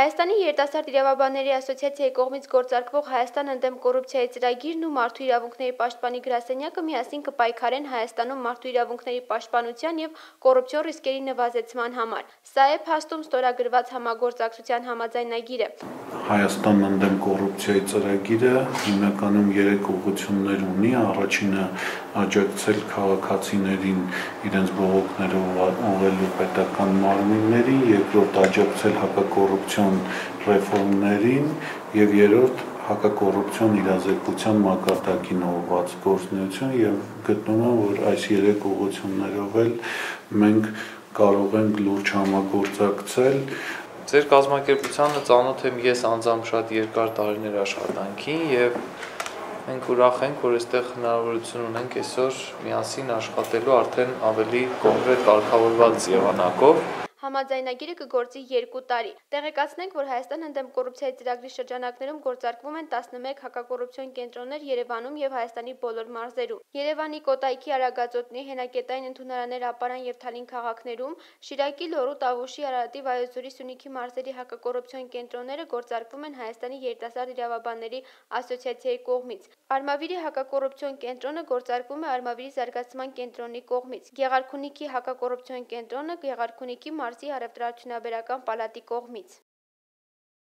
Հայաստանի երիտասարդ իրավաբանների ասոցիացիայի կողմից գործարկվող Հայաստան ընդդեմ կոռուպցիայի ծրագիրն ու մարդու իրավունքների պաշտպանի գրասենյակը միասին կպայքարեն Հայաստանում մարդու իրավունքների պաշտպանության և կոռուպցիոն ռիսկերի նվազեցման համար։ Սա է փաստում ստորագրված համագործակցության համաձայնագիրը։ Հայաստան ընդդեմ կոռուպցիայի ծրագիրը հիմնականում 3 ուղղություններ ունի։ Առաջինը աջակցել քաղաքացիներին իրենց բողոքները ուղղելու պետական մարմիններին, երկրորդ աջակցել հակակոռուպցիոն ռեֆորմներին և երրորդ հակակոռուպցիոն իրազեկության մակարդակին ուղղված գործունեություն և գտնում եմ, որ այս 3 ուղղություններով էլ մենք կարող ենք լուրջ համագործակցել։ Ձեր կազմակերպությանը ծանոթ եմ ես անձամբ շատ երկար տարիներ աշխատանքի և մենք ուրախ ենք, որ այստեղ հնարավորություն ունենք այսօր միասին աշխատելու արդեն ավելի կոնկրետ կարգավորված եղանակով։ Համաձայնագիրը կգործի 2 տարի։ Տեղեկացնենք, որ Հայաստան ընդդեմ կոռուպցիայի ծրագրի շրջանակներում գործարկվում են 11 հակակոռուպցիոն կենտրոններ Երևանում և Հայաստանի բոլոր մարզերում։ Երևանի, Կոտայքի, Արագածոտնի, Հենակետային ընդունարաններ Ապարան և Թալին քաղաքներում, Շիրակի, Լոռու, Տավուշի, Արարատի, Վայոց ձորի, Սյունիքի մարզերի հակակոռուպցիոն կենտրոնները գործարկվում են Հայաստանի երիտասարդ իրավաբանների ասոցիացիայի կողմից։ Արմավիրի հակակոռուպցիոն կենտրոնը գործարկվում է Արմավիրի զարգացման կենտրոնի կողմից։ Գեղարքունիքի հակակոռուպցիոն կենտրոնը Գեղարքունիքի մարզի առևտրաարդյունաբերական պալատի կողմից։